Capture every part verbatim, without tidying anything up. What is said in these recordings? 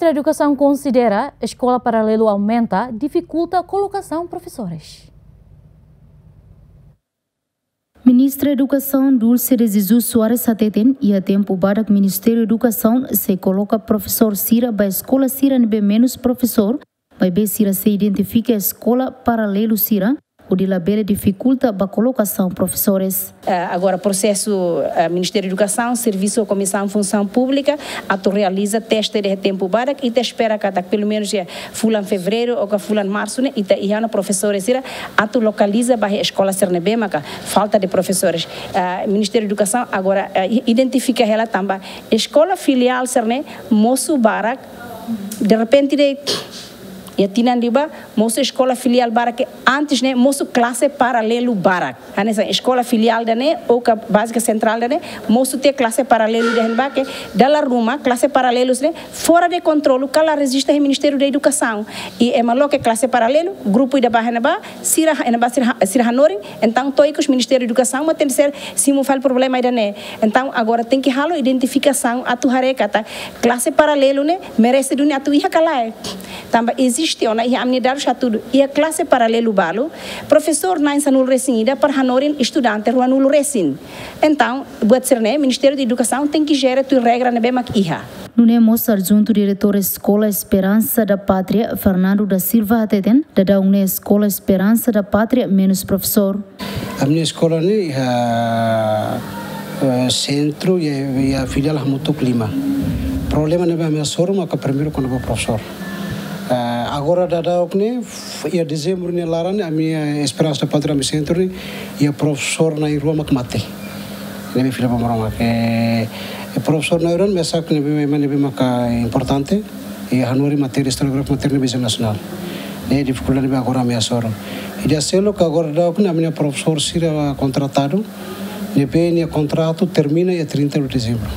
Edukasaun konsidera eskola paralelu aumenta difikulta kolokasaun profesores. Ministra Edukasaun Dulce de Jesus Soares hateten, iha tempu badak Ministériu Edukasaun sei koloka profesór sira ba eskola sira ne'ebé menus profesór, maibé sira sei identifika eskola paralelu sira, hodi labele difikulta ba kolokasaun profesores. Eh, agora, prosesu, eh, Ministériu Edukasaun, servisu ho Komisaun Funsaun Públika, atu realiza teste de tempu badak, ita espera katak pelumenus iha fulan Fevereiru ou ka fulan Marsu ne'e, ita iha ona profesores sira atu lokaliza ba eskola sira ne'ebé maka falta de profesores. Eh, Ministériu Edukasaun agora, eh, identifika hela tanba eskola filiál sira-ne'e mosu barak, derrepente de'it, iha tinan liubá, mosu eskola filiál barak ke antes ne'e mosu klase paralelu barak. Hanesan eskola filiál ida-ne'e, ou ka bázika sentrál ida-ne'e, mosu tiha klase paralelu ida-ne'ebá ke dala ruma klase paralelu sira-ne'e fora de kontrolu, ka la rejista iha Ministériu Edukasaun. I ema loke klase paralelu, grupu ida bá iha ne'ebá, sira, iha ne'ebá sira, sira hanorin, entaun to'o ikus Ministériu Edukasaun mak tenke ser simu fali problema ida-ne'e. Entaun agora tenke halo identifikasaun atu haree katak klase paralelu ne'e merese duni atu iha ka lae. Tanba eziste ona, iha ami-nia dadus hatudu, iha klase paralelu balu, profesór na'in sanulu-resin-ida para hanorin estudante ruanulu-resin. Entaun, buat sira-ne'e Ministériu Edukasaun tenke jere tuir regra ne'ebé mak iha. Nune'e mós adjuntu diretór Eskola Esperansa da Pátria, Fernando da Silva hateten, daudaun ne'e Eskola Esperansa da Pátria menus profesór. Ami-nia eskola ne'e iha, eh, sentru iha, iha filiál hamutuk lima. Problema ne'ebé ami hasoru maka primeiru kona-ba profesór. Eh, agora daudaun ne'e, iha dezembru nia laran ne'e, ami-nia Esperansa da Pátria ami-nia sentru ne'e, iha profesór na'in-rua mak mate. Ne'ebé fila ba Maromak. Eh, profesór na'in-rua ne'e mesak ne'ebé, ne'ebé maka importante. I hanorin matéria, istória, jeografia, matéria ne'ebé nasionál. Ne'e difikuldade ne'ebé agora ami hasoru. I di'ak seluk agora daudaun ami-nia profesór sira kontratadu, ne'ebé nia kontratu termina iha trinta de dezembro.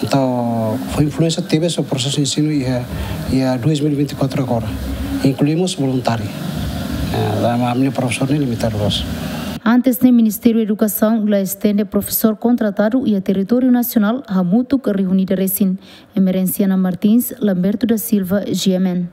Entaun, fó influénsia tebes ba prosesu ensinu iha, iha dois mil e vinte e quatro agora. Inklui mós voluntáriu. Eh, ami-nia profesór ne'e limitadu loos. Antes ne'e Ministériu Edukasaun la estende profesór kontratadu iha territóriu nasionál hamutuk rihun ida resin. Emerenciana Martins, Lamberto da Silva, G M N.